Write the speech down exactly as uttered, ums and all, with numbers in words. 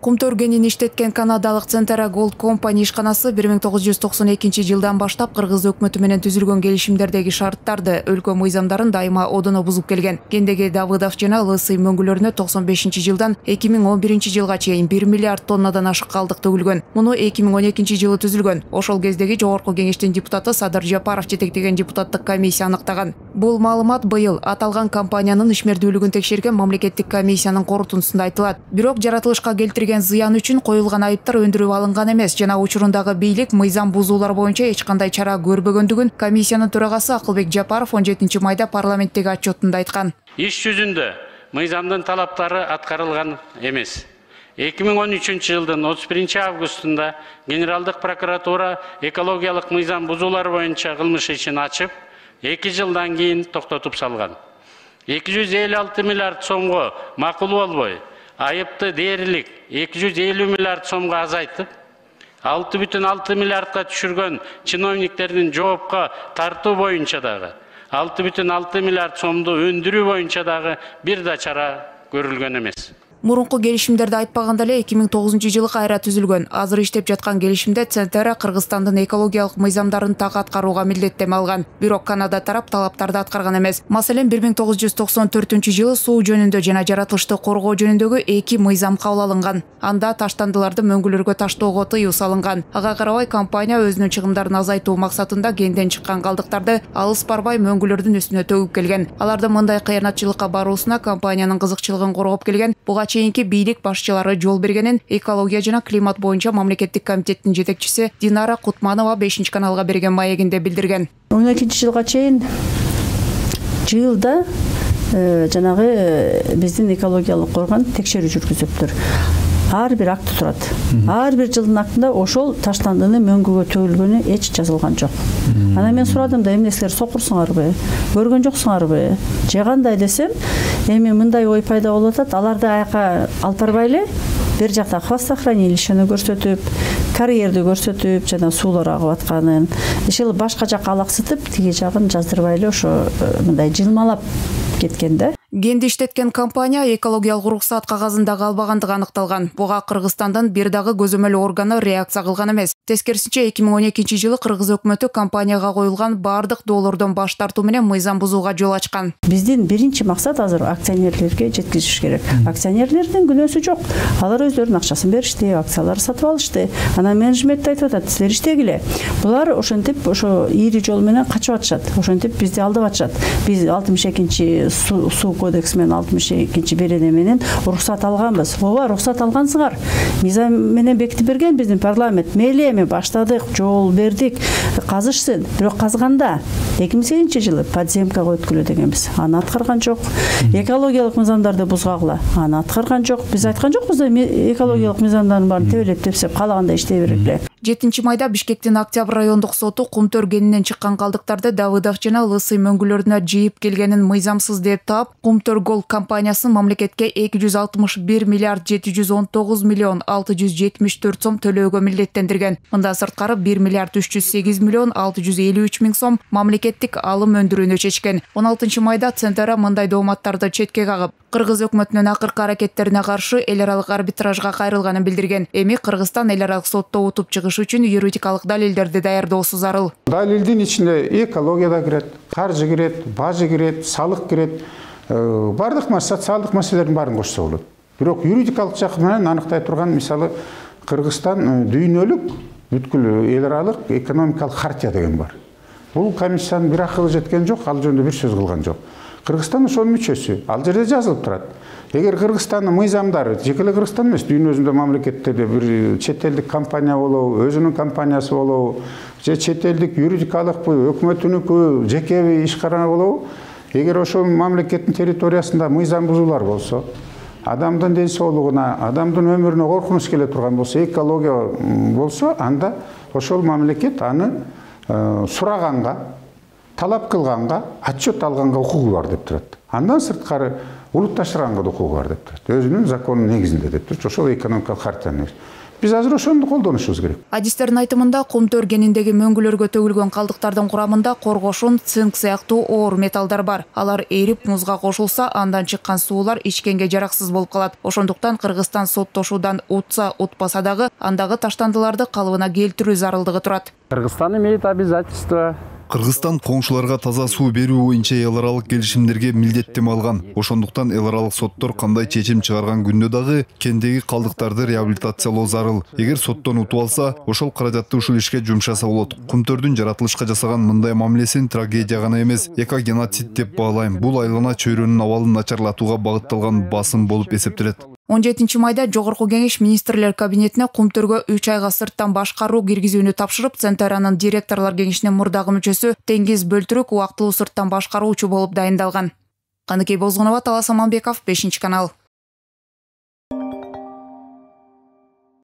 Кумтөр кенин иштеткен канадалык Centera Gold Company ишканасы бир миң тогуз жүз токсон экинчи жылдан баштап кыргыз өкмөтү менен түзүлгөн келишимдердеги шарттарды, өлкө мыйзамдарын дайыма одоно бузуп келген. Кендеги Давыдов жана Лысый мөңгүлөрүнө токсон бешинчи жылдан эки миң он биринчи жылга чейин бир миллиард тоннадан ашык калдык төгүлгөн. Муну эки миң он экинчи жылы түзүлгөн. Ошол кездеги Жогорку Кеңештин депутаты Садыр Жапаров жетектеген депутаттык комиссия аныктаган. Бул маалымат быйыл аталган компаниянын ишмердүүлүгүн текшерген мамлекеттик комиссиянын корутундусунда айтылат. Бирок жаратылышка келтирген зыян үчүн коюлган айыптар өндүрүп алынган эмес жана учурундагы бийлик мыйзам бузуулар боюнча эч кандай чара көрбөгөндүгүн комиссиянын төрагасы Акылбек Жапаров он жетинчи майда парламенттеги отчетунда айткан. Иш жүзүндө мыйзамдын талаптары аткарылган эмес. эки миң он үчүнчү жылдын отуз биринчи августунда Генералдык прокуратура экологиялык мыйзам бузуулар боюнча кылмыш ишин ачып, эки жылдан кийин токтотуп салган. эки жүз элүү алты миллиард сомго макул болбой, айыпты дээрлик эки жүз элүү миллиард сомго азайтып, алты бүтүн алты миллиардка түшүргөн чиновниктердин жоопко тартуу боюнча дагы, алты бүтүн алты миллиард сомду өндүрүү боюнча дагы бир да чара көрүлгөн эмес. Мурунку келишимдерди айтпаганда эле эки миң тогузунчу жылы кайра түзүлгөн. Азыр иштеп жаткан келишимде Centera Кыргызстандын экологиялык мыйзамдарын так аткарууга милдеттеме алган. Бирок Канада тарап талаптарды аткарган эмес. Маселен, бир миң тогуз жүз токсон төртүнчү жылы суу жөнүндө жана жаратылышты коргоо жөнүндөгү эки мыйзам кабыл алынган. Анда таштандыларды мөңгүлөргө таштоого тыюу салынган. Ага карабай компания өзүнүн чыгымдарын азайтуу максатында кенден чыккан калдыктарды алыс барбай мөңгүлөрдүн үстүнө төгүп келген. Аларды мындай кыянатчылыкка баруусуна компаниянын кызыкчылыгын коргоп келген. Буга чейинки бийлик башчылары жол бергенин экология жана климат боюнча мамлекеттик комитеттин жетекчиси Динара Кутманова бешинчи каналга берген маегинде билдирген. он экинчи жылга чейин жылда жанагы биздин экологиялык орган текшерүү жүргүзөптүр. Ар бир акты турат. Ар бир жылдын актында ошол таштандыны мөңгүгө төгүлгөнү эч жазылган жок. Анан мен сурадым да, эмне силер сокурсуңарбы? Көргөн жоксуңарбы? Же кандай десем, эми мындай ой пайда болуп атат. Аларды аяка алып барбай эле бир жакта хвостохранилищени көрсөтүп, карьерди көрсөтүп, жана суулар агып атканын, ишил башка жакка алаксытып, тиги жагын жаздырбай эле ошо мындай жылмалап кеткен да. Кенди иштеткен компания экологиялык уруксаат кагазын дагы албагандыгы аныкталган. Буга Кыргызстандын бир дагы көзөмөл органы реакция кылган эмес. Тескерисинче эки миң он экинчи жылы Кыргыз өкмөтү компанияга коюлган бардык доолордон баш тартуу менен мыйзам бузууга жол ачкан. Биздин биринчи максат азыр акционерлерге жеткизиш керек. Акционерлердин күнөөсү жок. Алар өздөрүнүн акчасын беришти, акцияларды сатып алышты. Анан менеджмент айтып атат, силер иштегиле. Булар ошентип ошо ири жол менен качып атышат. Ошентип бизди алдап атышат. Биз алтымыш экинчи суу кодекс менен алтымыш экинчи берене менен уруксат алганбыз. Ооба, уруксат алгансыңар. Мыйзам менен бекитип берген биздин парламент. Мейли эми баштадык, жол бердик, казышсын. Бирок казганда эки миң сегизинчи жылы подземкага өткүлө дегенбиз. Аны аткарган жок. Экологиялык мыйзамдарды бузгагыла. Аны аткарган жок. Биз айткан жокпуз да экологиялык мыйзамдардын баарын тебелеп тепсеп каалагандай иштей берет эле. жетинчи майда Бишкектин Октябрь райондук соту Кумтөр кенинен чыккан калдыктарды Давыдов жана Лысый мөңгүлөрүнө жыйып келгенин мыйзамсыз деп таап, Кумтөр Gold компаниясын мамлекетке эки жүз алтымыш бир миллиард жети жүз он тогуз миллион алты жүз жетимиш төрт сом төлөөгө милдеттендирген. Мындан сырткары бир миллиард үч жүз сегиз миллион алты жүз элүү үч миң сом мамлекеттик алым өндүрүүнү чечкен. он алтынчы майда Centera мындай дооматтарды четке кагып, Кыргыз өкмөтүнүн акыркы аракеттерине каршы эл аралык арбитражга кайрылганын билдирген. Эми Кыргызстан эл аралык сотто утуп чыгыш үчүн юридикалык далилдерди даярдоосу зарыл. Далилдин ичинде экология да кирет, каржы кирет, бажы кирет, салык кирет. Бардык социалдык маселелердин баарын кошсо болот. Бирок юридикалык жакы менен аныктай турган, мисалы, Кыргызстан дүйнөлүк бүткүл эл аралык экономикалык хартия деген бар. Бул комиссиянын бир акылы жеткен жок, ал жөнүндө бир сөз кылган жок. Кыргызстан ошонун мүчөсү. Ал жерде жазылып турат. Эгер Кыргызстандын мыйзамдары, жеке эле Кыргызстан эмес, дүйнө жүзүндө мамлекеттерде бир чет элдик компания болобу, өзүнүн компаниясы болобу, же чет элдик юридикалыкпы, өкмөтүнүкү, жекеби ишкана болобу, эгер ошол мамлекеттин территориясында мыйзам бузуулар болсо, адамдын ден соолугуна, адамдын өмүрүнө коркунуч келе турган болсо, экология болсо, анда ошол мамлекет аны сураганга, талап кылганга, отчет алганга укугу бар деп турат. Андан сырткары улутташтырганга да укугу бар деп турат. Өзүнүн законунун негизинде деп турат. Ошол экономикалык хартиянын негизинде. Биз азыр ошону колдонушубуз керек. Адистердин айтымында кумтөр кениндеги мөңгүлөргө төгүлгөн калдыктардын курамында коргошун, цинк сыяктуу оор металлдар бар. Алар эрип музга кошулса, андан чыккан суулар ичкенге жараксыз болуп калат. Ошондуктан Кыргызстан соттошуудан утса утпаса дагы андагы таштандыларды калыбына келтирүү зарылдыгы турат. Кыргызстан имеет обязательство. Кыргызстан коңшуларга таза суу берүү боюнча эл аралык келишимдерге милдеттеме алган. Ошондуктан эл аралык соттор кандай чечим чыгарган күндө дагы кендеги калдыктарды реабилитациялоо зарыл. Эгер соттон утуп алса, ошол каражатты ушул ишке жумшаса болот. Кумтөрдүн жаратылышка жасаган мындай мамилесин трагедия гана эмес, эко-геноцид деп баалайм. Бул айлана чөйрөнүн абалын начарлатууга багытталган басым болуп эсептелет. он жетинчи майда Жогорку Кеңеш министрлер кабинетине кумтөргө үч айга сырттан башкаруу киргизүүнү тапшырып, Центаранын директорлор кеңешинин мурдагы мүчөсү Теңиз Бөлтүрүк убактылуу сырттан башкаруучу болуп дайындалган. Каныкей Бозгунова, Талас Аманбеков, бешинчи канал.